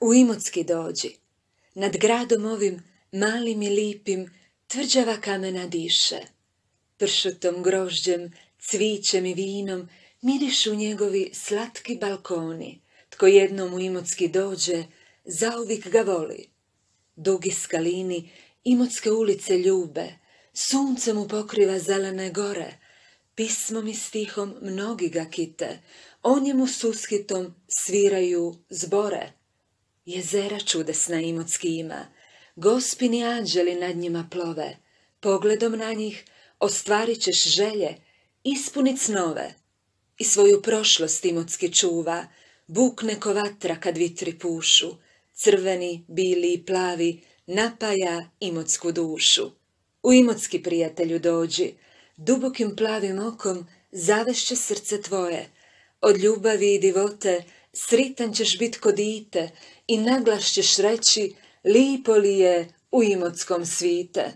U Imotski dođi, nad gradom ovim malim i lipim tvrđava kamena diše. Pršutom, grožđem, cvićem i vinom mirišu njegovi slatki balkoni. Tko jednom u Imotski dođe, zauvijek ga voli. Dugi skalini Imotske ulice ljube, sunce mu pokriva zelene gore, pismom i stihom mnogi ga kite, o njemu sushitom sviraju zbore. Jezera čudesna Imotski ima, gospini anđeli nad njima plove, pogledom na njih ostvarit ćeš želje, ispunit snove. I svoju prošlost Imotski čuva, bukne ko vatra kad vitri pušu, crveni, bili i plavi napaja Imotsku dušu. U Imotski, prijatelju, dođi, dubokim plavim okom zavešće srce tvoje, od ljubavi i divote sritan ćeš bit ko dite i naglas ćeš reći lipo li je u Imotskom svite.